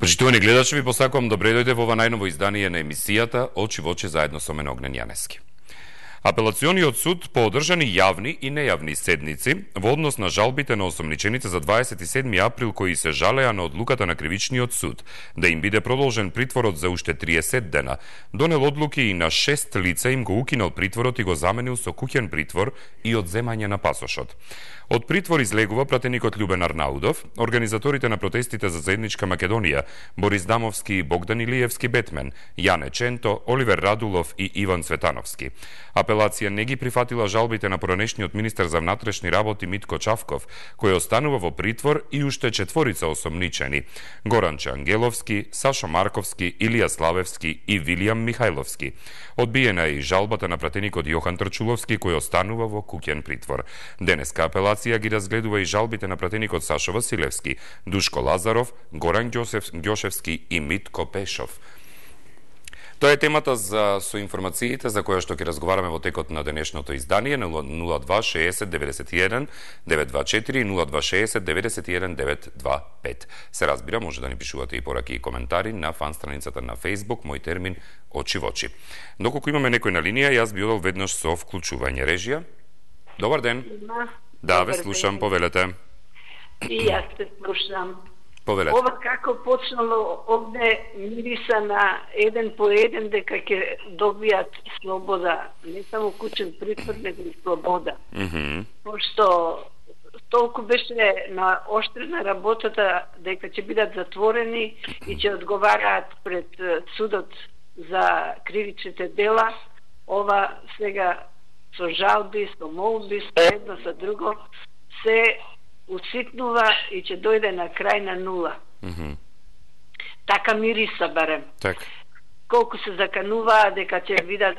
Почитувани гледачи, ви посакувам добре дојде во ова најново издание на емисијата Очи во очи заедно со мене Огнен Јанески. Апелациониот суд по одржани јавни и нејавни седници во однос на жалбите на осомничените за 27 април кои се жалеа на одлуката на кривичниот суд да им биде продолжен притворот за уште 30 дена, донел одлуки и на 6 лица им го укинал притворот и го заменил со куќен притвор и одземање на пасошот. Од притвор излегува пратеникот Љубен Арнаудов, организаторите на протестите за заедничка Македонија, Борис Дамовски и Богдан Илиевски Бетмен, Јане Ченто, Оливер Радулов и Иван Цветановски. Апелација не ги прифатила жалбите на поранешниот министер за внатрешни работи Митко Чавков, кој останува во притвор и уште 4 осомничени: Горанче Ангеловски, Сашо Марковски, Илија Славевски и Вилијам Михајловски. Одбиена е и жалбата на пратеникот Јохан Трчуловски, кој останува во куќен притвор. Денеска апелација ги разгледува и жалбите на пратеникот Сашо Василевски, Душко Лазаров, Горан Ѓошевски и Митко Пешов. Тоа е темата со информациите за која што ќе разговараме во текот на денешното издание на 0260 91 924 и 0260 91 925. Се разбира, може да ни пишувате и пораки и коментари на фан страницата на Facebook, мој термин Очи во очи. Доколку имаме некој на линија, јас би одел веднаш со вклучување. Режија? Добар ден. Да, ве слушам, повелете. И јас те слушам. Повелете. Ова како почнало овде мириса на еден по еден дека ќе добијат слобода, не само куќен притвор, него и слобода. Пошто толку беше на оштрена работата дека ќе бидат затворени и ќе одговараат пред судот за кривичните дела, ова сега со жалби, со молби, со едно, со друго, се уситнува и ќе дојде на крај на нула. Така мириса барем. Так. Колку се закануваа дека ќе видат,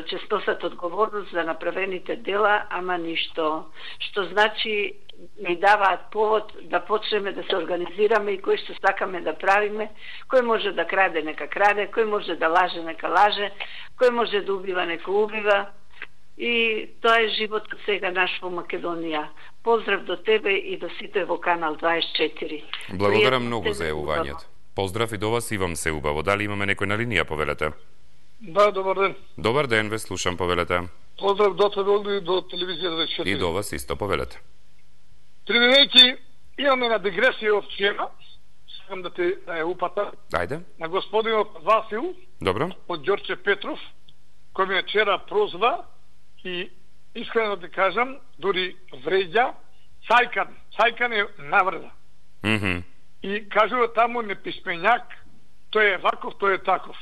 ќе сносат одговорност за направените дела, ама ништо. Што значи ни даваат повод да почнеме да се организираме и кој што сакаме да правиме, кој може да краде, нека краде, кој може да лаже, нека лаже, кој може да убива, нека убива. И тоа е животот сега наш во Македонија. Поздрав до тебе и до сите во Канал 24. Благодарам многу за јавувањето. Поздрав и до вас, Ивам се убаво. Дали имаме некој на линија, повелете? Да, добар ден. Добар ден, ве слушам, повелете. Поздрав до тебе и до телевизијата 24. И до вас исто, повелете. Трибинејќи, имаме на дегресија од вчера, сакам да те ја упатам. Ајде. На господинот Васил, Добро. од Ѓорче Петров, кој ме вчера прозва и искрено да кажам, дури вреѓа, цајкан е наврда. И кажува таму неписменјак, тој е ваков, тој е таков.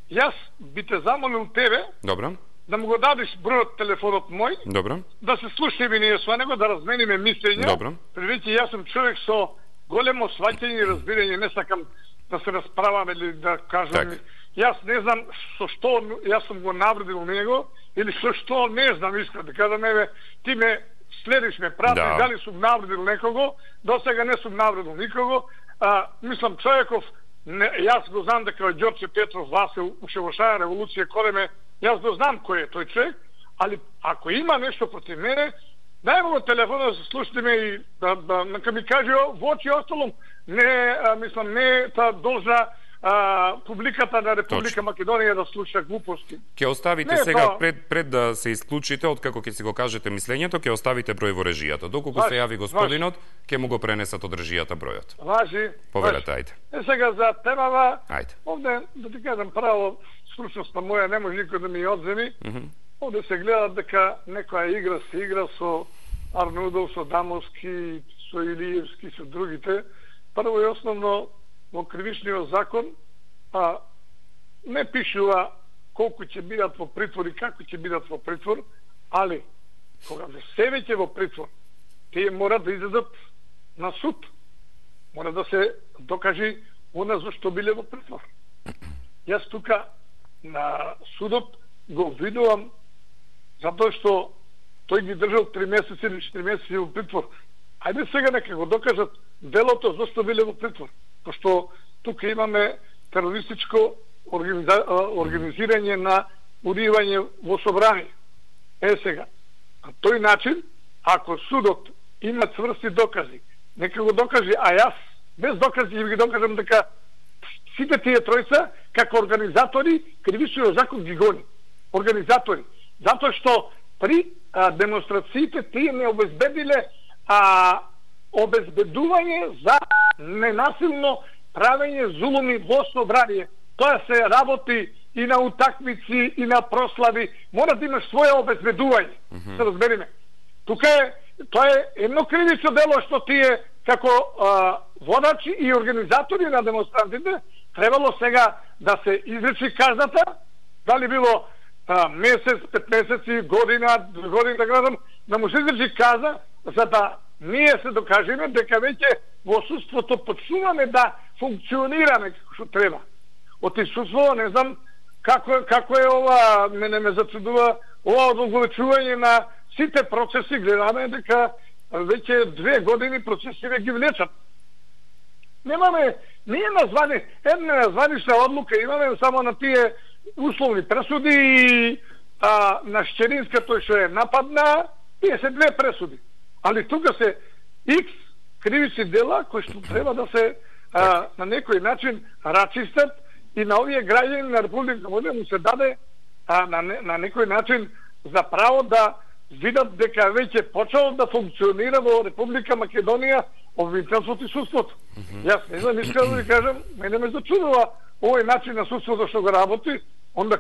Јас би те замолил тебе, Добро. да му го дадеш бројот телефонот мој, Добро. да се слушаме ние со него, да размениме мислења. Добро. Превеќе јас сум човек со големо сваќање и разбирање, не сакам да се расправам или да кажам. Так. Јас не знам со што јас сум го навредил него или со што не знам, искрено да кажам, еве ти ме следиш, ме прати, дали сум навредил некого, до сега не сум навредил никого. Мислам човеков, јас го знам дека Ѓорче Петров Васил уште во шаја револуција колеме, јас го знам кој е тој човек, али ако има нешто против мене, дај му телефона да се слушаме и нека ми каже во очи осталом, не, мислам, не та должна публиката на Република Македонија да слуша глупости. Ќе оставите сега пред да се исклучите, откако ќе си го кажете мислењето, ќе оставите број во режијата. Доколку се јави господинот, ќе му го пренесат од режијата бројот. Важи. Повелете, ајде. Сега за темава, ајде. Овде, да ти кажам право, стручноста моја не може никој да ми одземи. Овде се гледа дека некоја игра се игра со Арнудов, со Дамовски, со Илиевски, со другите. Прво и основно, во кривичниот закон не пишува колку ќе бидат во притвор и како ќе бидат во притвор, али кога се веќе во притвор, тие мора да излезат на суд. Мора да се докажи она за што биле во притвор. Јас тука на судот го видувам затоа што тој ги држал 3 месеци или 4 месеци во притвор. Ајде сега нека го докажат делото зашто биле во притвор. Пошто тука имаме терористичко организирање на убивање во собрание. Сега, на тој начин, ако судот има цврсти докази, нека го докаже, а јас без докази ќе ги докажам дека сите тие тројца како организатори кривичниот закон ги гони. Организатори. Затоа што при демонстрациите тие не обезбедиле обезбедување за ненасилно правење зулуми во собрание. Тоа се работи и на утакмици, и на прослави. Мора да имаш своје обезбедување. Се разбериме. Тука тоа е едно кривично дело што тие како водачи и организатори на демонстрантите требало сега да се изречи казната, дали било месец, 5 месеци, година да кажам, да му се изречи каза, за да ние се докажеме дека веќе во судството почнуваме да функционираме како што треба. Од искуство, не знам како е ова, мене ме зачудува ова одолговечување на сите процеси, гледаме дека веќе 2 години процесите ги влечат. Немаме, ние названи, една названична одлука имаме само на тие условни пресуди и на Шчеринска тој што е нападна, тие се 2 пресуди. Али тука се X кривични дела кои што треба да се на некој начин рачистат и на овие граѓани на Република Македонија му се даде на некој начин за право да видат дека веќе почнало да функционира во Република Македонија обвинителството и судството. Јас не знам, искам да ви кажам, мене ме зачудува овој начин на судството што го работи, онда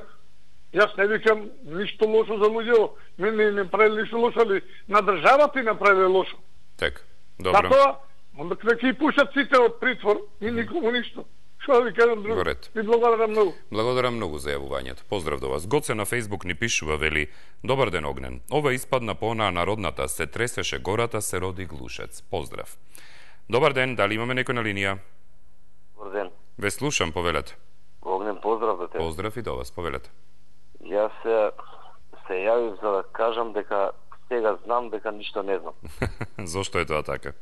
јас не викам ништо лошо за луѓето, мене не правили ништо лошо, али на државата и направили лошо. Так, добро. Затоа, онда ќе пушат сите од притвор и никому ништо. Што да ви кажам друго? Ви благодарам многу. Благодарам многу за јавувањето. Поздрав до вас. Гоце на Фејсбук ни пишува, вели: Добар ден, Огнен. Ова испадна по онаа народната се тресеше гората, се роди глушец. Поздрав. Добар ден, дали имаме некој на линија? Добар ден. Ве слушам, повелете. Огнен, поздрав до тебе. Поздрав и до вас, повелете. Јас се јавив за да кажам дека сега знам дека ништо не знам. Зошто е тоа така?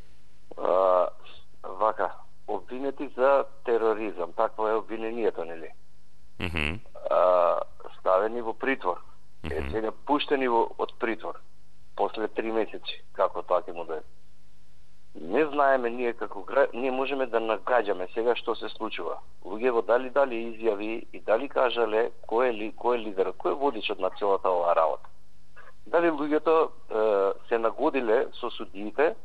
Вака, обвинети за тероризам, такво е обвинението, нели? Ставени во притвор. Сега пуштени од притвор после 3 месеци, како тоа ќе му даде. Не знаеме ние како ние можеме да нагаѓаме сега што се случува. Луѓето дали изјави и дали кажале кој е лидер, кој е водичот на целата оваа работа. Дали луѓето се нагодиле со судиите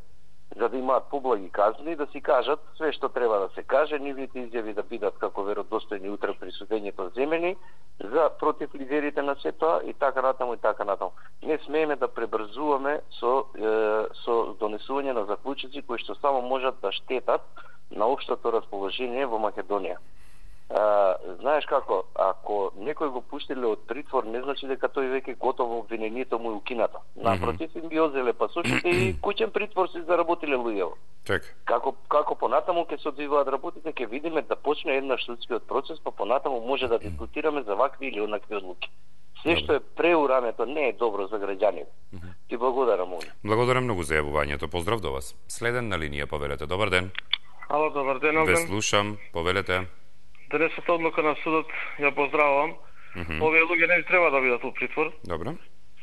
за да имаат поблаги казни, да си кажат све што треба да се каже, нивните изјави да бидат како веродостојни утре при судењето земени за против лидерите на сето и така натаму и така натаму. Не смееме да пребрзуваме со донесување на заклучоци кои што само можат да штетат на општото расположение во Македонија. Знаеш како, ако некој го пуштиле од притвор, не значи дека тој веќе готово обвинението му е укинато. Напротив, им ги одзеле пасошите и куќен притвор се заработиле луѓето. Како понатаму ќе се одвиваат работите, ќе видиме да почне еднаш судскиот процес, па понатаму може да дискутираме за вакви или онакви одлуки. Се што е преурането не е добро за граѓаните. Ти благодарам. Благодарам многу за јавувањето. Поздрав до вас. Следен на линија, повелете. Добар ден. Ало, добар ден, Огнен. Ве слушам, повелете. Денесната одлука на судот ја поздравувам. Овие луѓе не треба да бидат во притвор. Добро.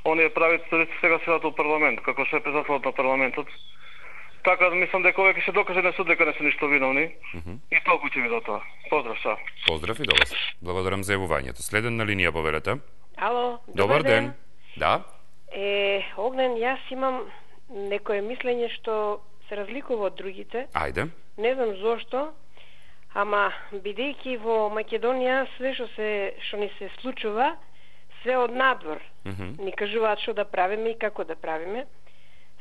Оние правителници сега седат во парламент, како шеф председател на парламентот. Така да мислам дека овие ќе се докаже на суд дека не се ништо виновни. И толку ќе ми до тоа. Поздрав са. Поздрав и до вас. Благодарам за јавувањето. Следен на линија, повелете. Ало, добар ден. Да. Огнен, јас имам некое мислење што се разликува од другите. Ајде. Не знам зошто. Ама, бидејќи во Македонија све што ни се случува, све од надвор. Ни кажуваат што да правиме и како да правиме.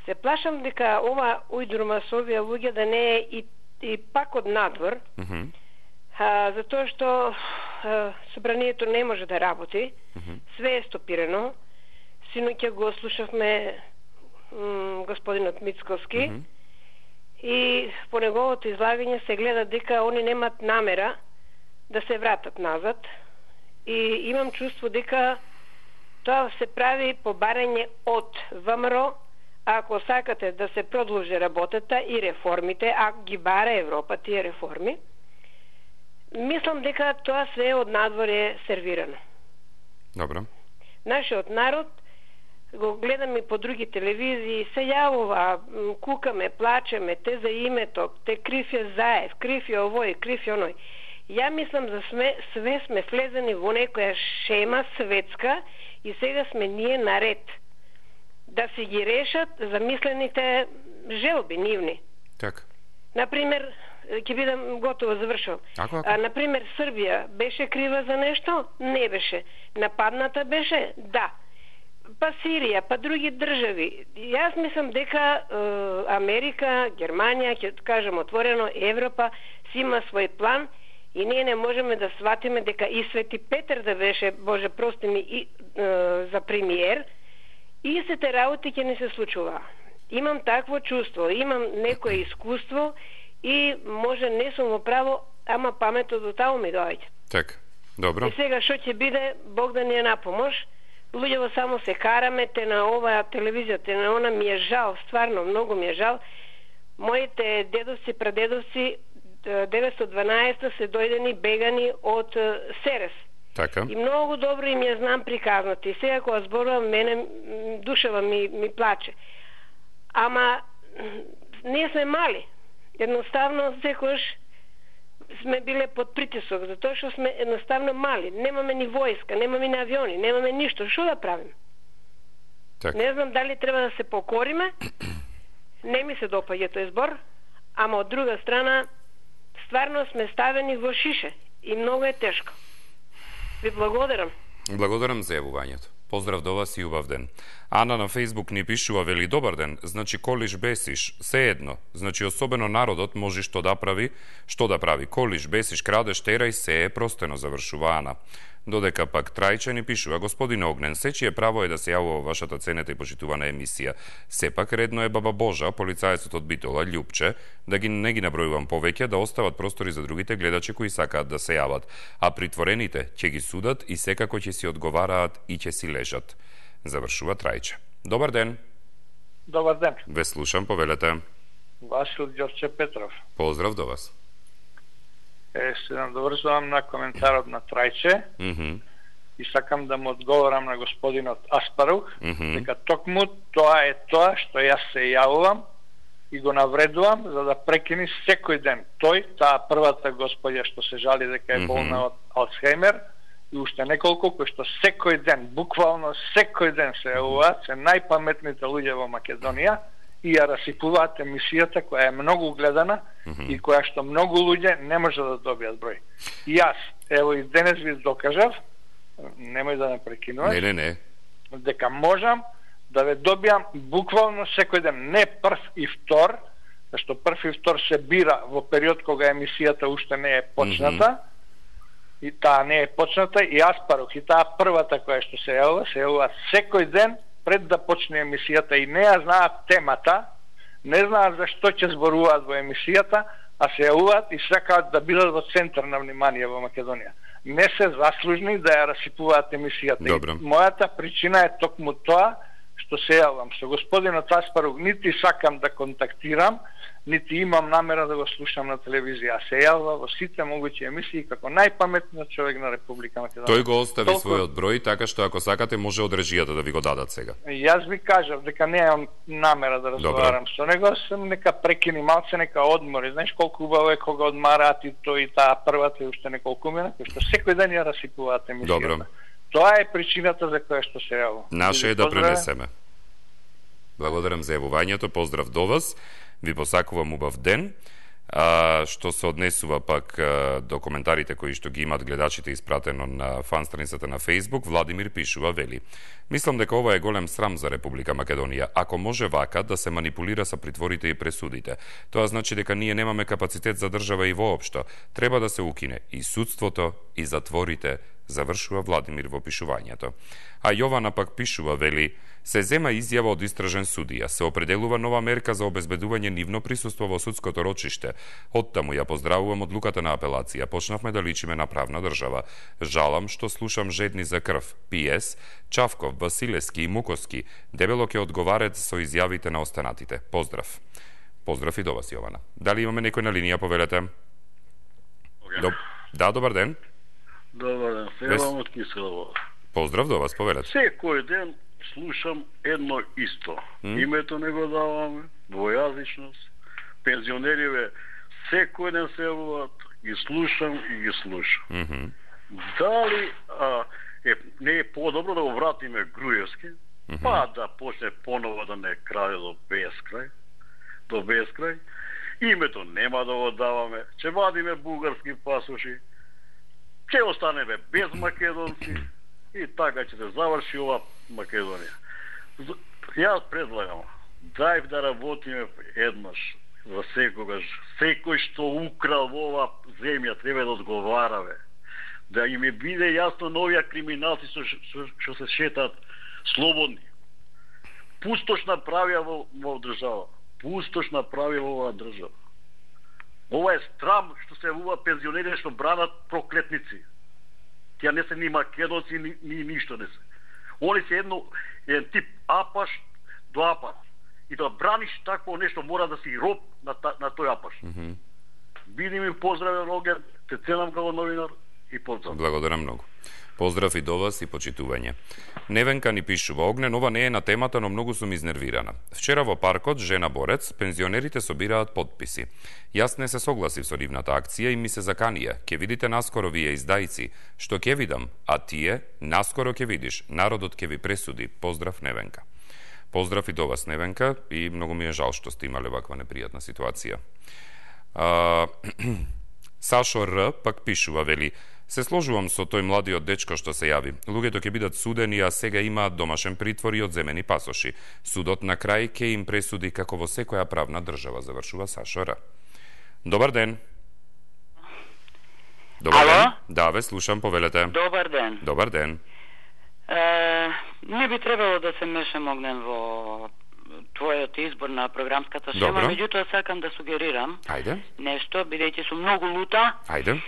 Се плашам дека ова ујдурма со овие луѓе да не е и пак од надвор, затоа што собранието не може да работи, све е стопирано. Синоќа го слушавме господинот Мицковски, и по неговото излагање се гледа дека они немат намера да се вратат назад и имам чувство дека тоа се прави по барање од ВМРО, ако сакате да се продолжи работата и реформите, ако ги бара Европа тие реформи. Мислам дека тоа све од надвор е сервирано. Добро. Нашиот народ го гледаме по други телевизии, се јавува, кукаме, плачеме, те за името, те крив е Заев, крив е овој, крив е оној. Ја мислам за све сме влезени во некоја шема светска и сега сме ние наред да се ги решат замислените желби нивни. Така. Например, ќе бидам готово завршувам. Например, Србија беше крива за нешто? Не беше. Нападната беше? Да. Па Сирија, па други држави. Јас мислам дека Америка, Германија, ќе кажем отворено, Европа си има свој план и ние не можеме да сватиме дека и Свети Петар да беше, Боже прости ми, за премиер, и сите работи ќе не се случува. Имам такво чувство, имам некое искуство и може не сум во право, ама паметот до таму ми доаѓа. Така, добро. И сега што ќе биде, Бог да ни е на помош. Луѓево само се караме, те на оваа телевизија, те на она, ми е жал, стварно, многу ми е жал. Моите дедовци, прадедовци 912 се дојдени бегани од Серес. Така. И многу добро им ја знам приказната. И сега кога зборувам, мене душава ми плаче. Ама ние сме мали. Едноставно секојаш сме биле под притисок, затоа што сме едноставно мали. Немаме ни војска, немаме ни авиони, немаме ништо. Што да правим? Так. Не знам дали треба да се покориме. Не ми се допаѓа тој збор, ама од друга страна стварно сме ставени во шише и многу е тешко. Ви благодарам. Благодарам за јавувањето. Поздрав до вас и убав ден. Ана на Фейсбук ни пишува, вели, добар ден, значи колиш бесиш, се едно, значи особено народот може што да прави, колиш бесиш, крадеш, терај, се е простено, завршува Ана. Додека пак Трајче ни пишува, господин Огнен, сечие право е да се јавува вашата ценета и почитувана емисија. Сепак редно е баба Божа, полицајецот од Битола, Љупче, да не ги набројувам повеќе, да остават простори за другите гледачи кои сакаат да се јават, а притворените ќе ги судат и секако ќе си одговараат и ќе си лежат. Завршува Трајче. Добар ден. Добар ден. Ве слушам, повелете. Васил Ѓорче Петров. Поздрав до вас. Се надоврзувам на коментарот на Трајче и сакам да му одговорам на господинот Аспарух, дека токму тоа е тоа што јас се јавувам и го навредувам за да прекини секој ден. Таа првата господја што се жали дека е болна од Алцхеймер и уште неколку кои што секој ден, буквално секој ден се јавуваат, се најпаметните луѓе во Македонија и ја расипуваат емисијата која е многу гледана и која што многу луѓе не може да добијат број. И јас, ево и денес ви докажав, немој да ме прекинуваш, не, дека можам да ве добијам буквално секој ден, не прв и втор, зашто прв и втор се бира во период кога емисијата уште не е почната, и таа не е почната, и Аспарух, и таа првата која што се јавува секој ден, пред да почне емисијата и не ја знаат темата, не знаат за што ќе зборуваат во емисијата, а се јавуваат и сакаат да бидат во центар на внимание во Македонија. Не се заслужни да ја расипуваат емисијата. Добро. Мојата причина е токму тоа што се јавам. Со господинот Аспарук нити сакам да контактирам, нити имам намера да го слушам на телевизија. Се јавува во сите могучи емисии како најпаметниот човек на Република Македонија. Тој го остави својот број, така што ако сакате може од режијата да ви го дадат сега. Јас ви кажав дека немам намера да разговарам со него, сам нека прекини малце, нека одмори. Знаеш колку убаво е кога одмараат и тој и таа првата и уште неколку мина, кои што секој ден ја расипуваат емисијата. Добро. Тоа е причината за која што се јавува. Наше е да пренесеме. Благодарам за јавувањето, поздрав до вас. Ви посакувам убав ден. Што се однесува пак до коментарите кои што ги имат гледачите испратено на фан страницата на Facebook, Владимир пишува, вели: мислам дека ова е голем срам за Република Македонија. Ако може вака да се манипулира со притворите и пресудите, тоа значи дека ние немаме капацитет за држава и воопшто. Треба да се укине и судството и затворите, завршува Владимир во пишувањето. А Јована пак пишува, вели: се зема изјава од истражен судија, се определува нова мерка за обезбедување нивно присуство во судското рочиште. Оттаму ја поздравувам одлуката на апелација. Почнавме да личиме на правна држава. Жалам што слушам жедни за крв. П.С. Чавков, Василевски и Муковски дебело ќе одговарат со изјавите на останатите. Поздрав. Поздрав и до вас, Јована. Дали имаме некој на линија, повелете? Да, добар ден. Добар ден, Севам од Киселово. Поздрав до вас, повелете. Секој ден слушам едно исто. Името не го даваме, двојазичност, пензионериве секој ден се јавуваат, ги слушам. Дали не е подобро да го вратиме Груевски, па да почне поново да не краде до безкрај. Името нема да го даваме, ќе вадиме бугарски пасоши, ќе останеме без македонци и така ќе се заврши ова Македонија. Јас предлагам, дај да работиме еднаш, за секогаш. Секој што украл во ова земја треба да одговараме. Да им биде јасно на овие криминалци што се шетаат слободни. Пустош направија во држава. Пустош направија во оваа држава. Ова е страм што се јавува пензионери што бранат проклетници. Тие не се ни македонци, ни ништо не се. Они се еден тип апаш до апаш. И да браниш такво нешто мора да си роб на тој апаш. Биди ми поздравен, Оген, те ценам како новинар и поздрав. Благодарам многу. Поздрав и до вас и почитување. Невенка ни пишува: Огнен, ова не е на темата, но многу сум изнервирана. Вчера во паркот, жена борец, пензионерите собираат подписи. Јас не се согласив со нивната акција и ми се заканија: ќе видите наскоро вие издајци, што ќе видам, а тие наскоро ќе видиш, народот ќе ви пресуди. Поздрав, Невенка. Поздрав и до вас, Невенка, и многу ми е жал што сте имале ваква непријатна ситуација. Сашо Р пак пишува, вели: се сложувам со тој младиот дечко што се јави. Луѓето ќе бидат судени, а сега имаат домашен притвор и одземени пасоши. Судот на крај ќе им пресуди како во секоја правна држава, завршува Сашо Р. Добар ден. Добар ден. Да, ве слушам, повелете. Добар ден. Добар ден. Не би требало да се мешам, Огнен, во твојот избор на програмската шема, меѓутоа сакам да сугерирам нешто, бидејќи сум многу лута. Ајде.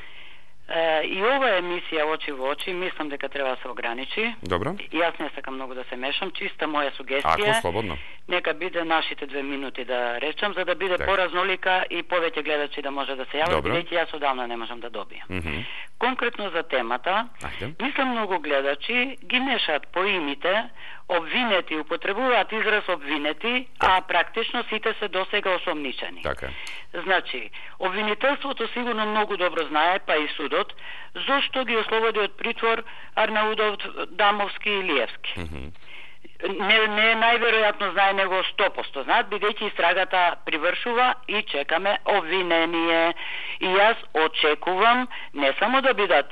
И ова емисија очи во очи, мислам дека треба да се ограничи. Добро. И јас не сакам многу да се мешам, чиста моја сугестија. Ако слободно. Нека биде нашите 2 минути да речам, за да биде поразнолика и повеќе гледачи да може да се јават, бидејќи јас одавна не можам да добијам. Конкретно за темата, мислам многу гледачи ги мешаат поимите, обвинети, употребуваат израз обвинети, а практично сите се досега осомничени. Така. Значи, обвинителството сигурно многу добро знае, па и судот, зошто ги ослободи од притвор Арнаудов, Дамовски и Илиевски. Не најверојатно знае него 100%, знаат, бидејќи истрагата привршува и чекаме обвинение. И јас очекувам не само да бидат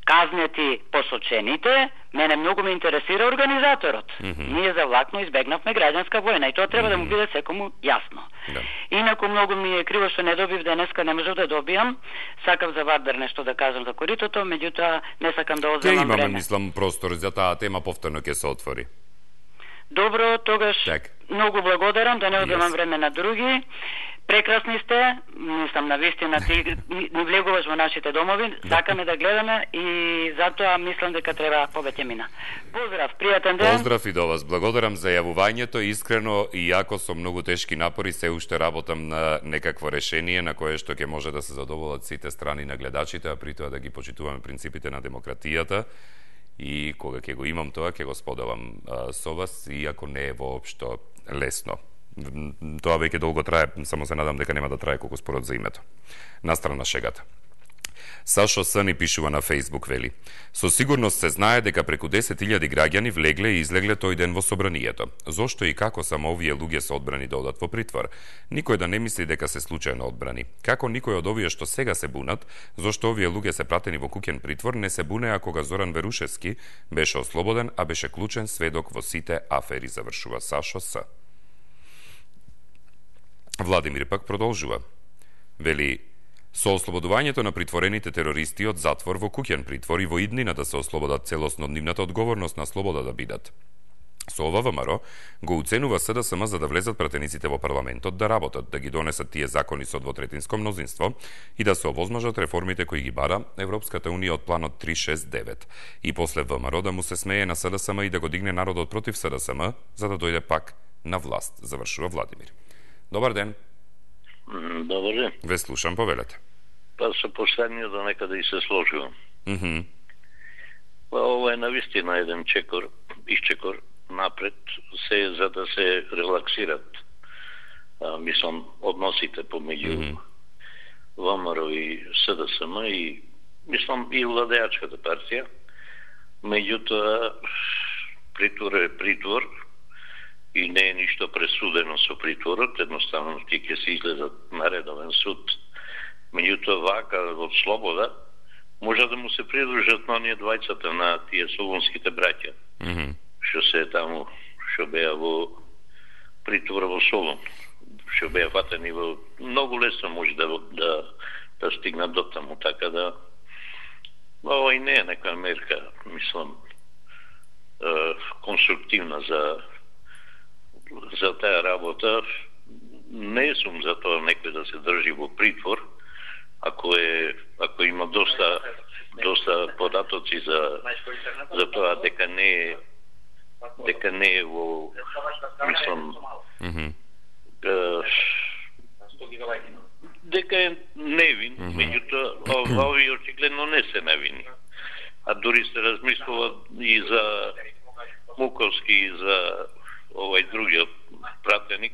казнети посочените, мене многу ме интересира организаторот. Ние за влакно избегнавме граѓанска војна и тоа треба да му биде секому јасно. Инаку многу ми е криво што не добив денеска, не можев да добијам. Сакав за Вардар нешто да кажам за коритото, меѓутоа не сакам да одземам време. Имаме, мислам, простор за таа тема, повторно ќе се отвори. Добро, тогаш многу благодарам, да не одземам време на други. Прекрасни сте, мислам навистина ти ни влегуваш во нашите домови, сакаме да гледаме и затоа мислам дека треба повеќе мина. Поздрав, пријатен ден. Поздрав и до вас. Благодарам за јавувањето, искрено и јако со многу тешки напори се уште работам на некакво решение на кое што ќе може да се задоволат сите страни на гледачите, а при тоа да ги почитуваме принципите на демократијата. И кога ќе го имам тоа, ќе го споделам со вас, иако не е воопшто лесно. Тоа веќе долго трае, само се надам дека нема да трае колку спорот за името. Настрана шегата. Сашо Сани пишува на Facebook, вели: со сигурност се знае дека преку 10.000 граѓани влегле и излегле тој ден во собранието. Зошто и како само овие луѓе се одбрани да одат во притвор? Никој да не мисли дека се случајно одбрани. Како никој од овие што сега се бунат, зошто овие луѓе се пратени во куќен притвор, не се бунеа кога Зоран Верушевски беше ослободен, а беше клучен сведок во сите афери, завршува Сашо С. Владимир пак продолжува. Вели: со ослободувањето на притворените терористи од затвор во куќен притвор и во иднина да се ослободат целосно од нивната одговорност на слобода да бидат. Со ова ВМРО го уценува СДСМ за да влезат пратениците во парламентот да работат, да ги донесат тие закони со двотретинско мнозинство и да се овозможат реформите кои ги бара Европската унија од планот 369. И после ВМРО да му се смее на СДСМ и да го дигне народот против СДСМ за да дојде пак на власт, завршува Владимир. Добар ден. Добар ден. Ве слушам, повелете. Па со последниот до некаде и се сложувам. Па ова е навистина еден исчекор напред, се за да се релаксират, мислам, односите помеѓу ВМРО и СДСМ и мислам и владеачката партија. Меѓутоа, притвор е притвор и не е ништо пресудено со притворот, едноставно ти ќе се излезат на редовен суд. Меѓутоа, вака од слобода може да му се придружат на оние двајцата на тие солунските браќа, што се таму, што беа во притвор во Солун, што беа фатени во многу лесно може да стигнат до таму, така да ова и не е нека мерка, мислам, конструктивна за таа работа. Не сум за тоа некој да се држи во притвор, ако има доста податоци за тоа дека не е во, мислам, дека е невин, меѓутоа овие очигледно не се невини. А дури се размислува и за Муковски и за овај другиот пратеник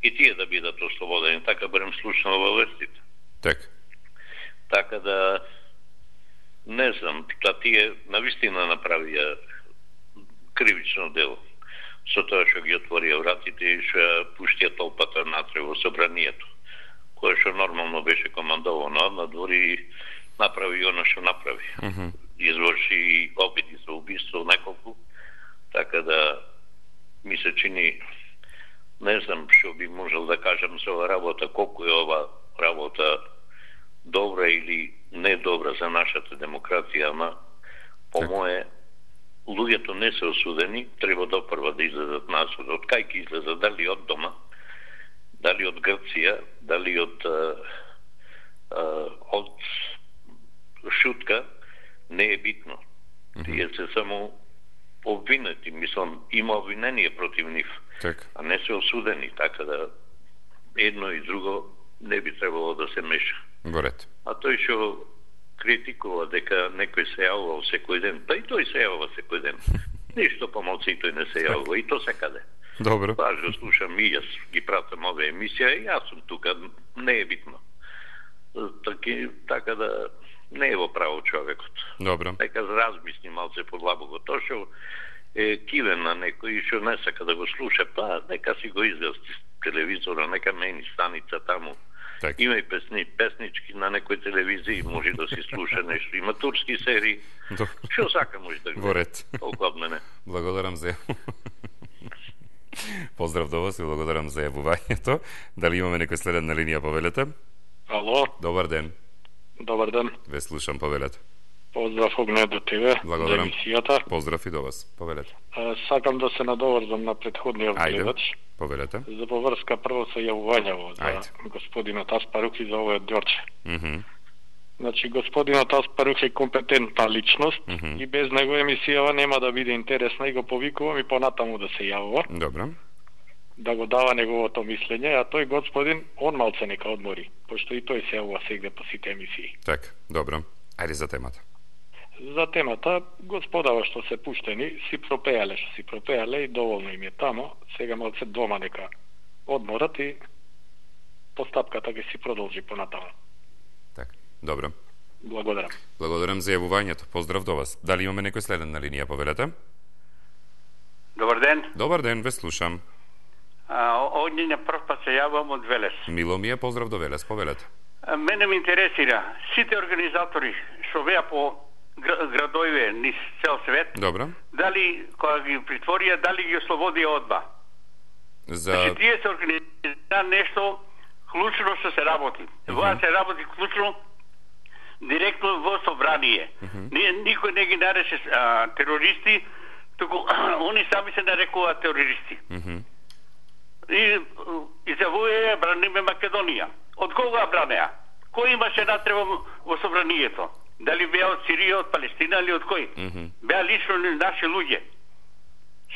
и тие да бидат ослободени, така барем слушнало во вестите. Така да не знам, тие навистина направија кривично дело со тоа што ги отворија вратите и што пуштија толпата натре во собранието, кое што нормално беше командовано надвор и направи оно што направи. Изврши обиди за убиство неколку, така да ми се чини, не знам што би можел да кажам за ова работа, колку е ова работа добра или не добра за нашата демократија, ама по мое луѓето не се осудени, треба допрва да излезат на суд. Од кај ќе излезат, дали од дома, дали од Грција, дали од шутка, не е битно. Тие се само обвинети, мислам, има обвинение против нив, а не се осудени, така да едно и друго не би требало да се меша. А тој што критикува дека некој се јавува секој ден, па и тој се јавува секој ден. Ништо помалку и тој не се јавува, и то секаде. Добро. Важно слушам и јас ги пратам овие емисија и јас сум тука, не е битно. Така да не е во право човекот. Добро. Нека размисли малце подлабоко. Тоа што е кивен на некој што не сака да го слуша, па нека си го изгасти телевизора, нека мени станица таму. Има и песнички на некој телевизија, може да си слуша нешто. Има турски серии. Што сака може да гледа. Во ред. Толку од мене. Благодарам за поздрав до вас и благодарам за јавувањето. Дали имаме некој следен на линија, повелете? Ало. Добар ден. Добар ден. Ве слушам, повелете. Поздрав огне до тебе. Благодарам. За емисијата. Поздрав и до вас. Повелете. Сакам да се надоврзам на претходниот гледач. Повелете. За поврска прво со јавувањето за господинот Аспарух и за овој Ѓорче. Значи, господинот Аспарух е компетентна личност и без него емисијава нема да биде интересна и го повикувам и понатаму да се јавува. Добро. Да го дава неговото мислење, а тој господин, он малце нека одмори, пошто и тој се јавува сегде по сите емисии. Така, добро. Ајде за темата. За темата, господава што се пуштени, си пропеале и доволно им е тамо, сега малце дома нека одморат и постапката ќе си продолжи понатаму. Така, добро. Благодарам. Благодарам за јавувањето. Поздрав до вас. Дали имаме некој следен на линија, повелете? Добар ден. Добар ден, ве слушам. Овде на прв пат се јавам од Велес. Мило ми е, поздрав до Велес, повелете. Мене ме интересира, сите организатори што беа по градове низ цел свет, добро, дали кога ги притворија, дали ги ослободија одба? Значи, тие се организира нешто клучно што се работи. Тоа се работи клучно директно во собрание. Никој не ги нарече терористи, туку они сами се нарекуваат терористи. И изјавуваја браниме Македонија. Од кога бранеа? Кој имаше натреба во собранието? Дали беа од Сирија, од Палестина или од кој? Беа лично наши луѓе.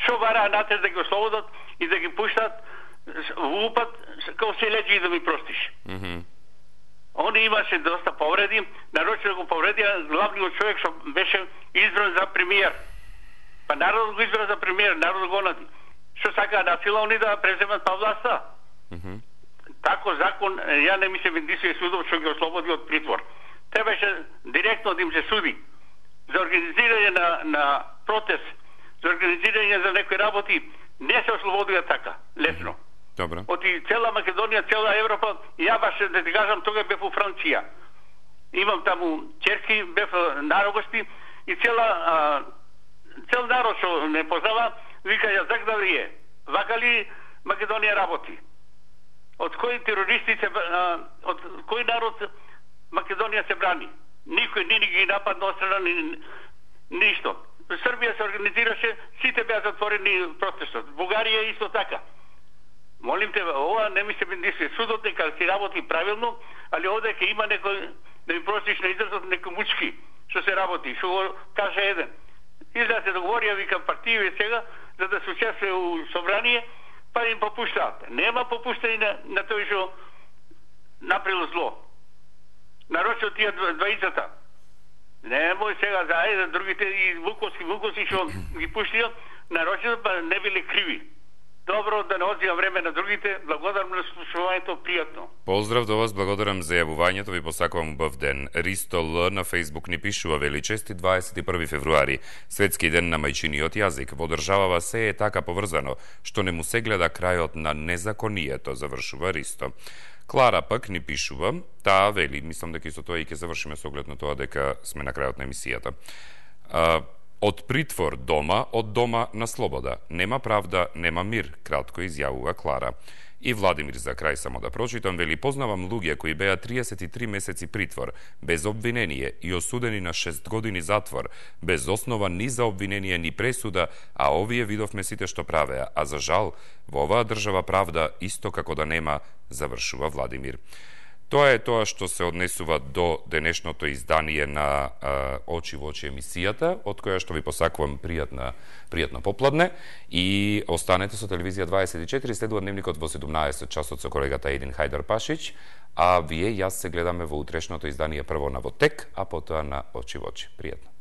Шо бараа натре да ги ослободат и да ги пуштат во упат као се леđи и да ми простиш. Он имаше доста повреди, нарочно го повредија главниот човек што беше избран за премиер. Па народот го избра за премиер, народот го онади. Што сака насила они да преземат па власта? тако закон, ја не ми се вендисува судов што ги ослободи од притвор. Требаше директно да им се суди за организирање на протест, за организирање за некои работи, не се ослободија така, лесно. Добро. Од цела Македонија, цела Европа, ја баш да ти кажам, тога бев у Франција. Имам таму черки, бев на Рогошти и цел народ што не познава, вика ја зак вие. Вака ли Македонија работи? Од кои терористи од кој народ Македонија се брани? Никој ни ги нападна од страна ништо. Србија се организираше, сите беа затворени протестот. Бугарија исто така. Молим те, ова не ми се бендисува. Судот нека си работи правилно, али овде ќе има некој, да ми простиш на изразот, некој мучки што се работи, што го каже еден. Изда се договорија, вика партији сега, за да се учествува у собрание, па им попуштаат. Нема попуштање на тој што направил зло. Нарочно тие дваицата. Немој сега за ајде другите и Вуковски што ги пуштија, нарочно па не биле криви. Добро, да не одзимам време на другите. Благодарам на слушувањето, пријатно. Поздрав до вас, благодарам за јавувањето, ви посакувам убав ден. Ристо Л на Фейсбук ни пишува: вели чести 21 февруари, светски ден на мајчиниот јазик. Во државава се е така поврзано, што не му се гледа крајот на незаконието, завршува Ристо. Клара пак ни пишува, таа вели, мислам дека исто тоа и ќе завршиме со оглед на тоа дека сме на крајот на емисијата. Од притвор дома, од дома на слобода. Нема правда, нема мир, кратко изјавува Клара. И Владимир за крај само да прочитам, вели: познавам луѓе кои беа 33 месеци притвор, без обвинение и осудени на 6 години затвор, без основа ни за обвинение ни пресуда, а овие видовме сите што правеа. А за жал, во оваа држава правда исто како да нема, завршува Владимир. Тоа е тоа што се однесува до денешното издание на Очи во очи емисијата, од која што ви посакувам пријатно попладне и останете со Телевизија 24, следува дневникот во 17 часот со колегата Един Хајдар Пашич, а вие и јас се гледаме во утрешното издание прво на Вотек, а потоа на Очи во очи. Пријатно.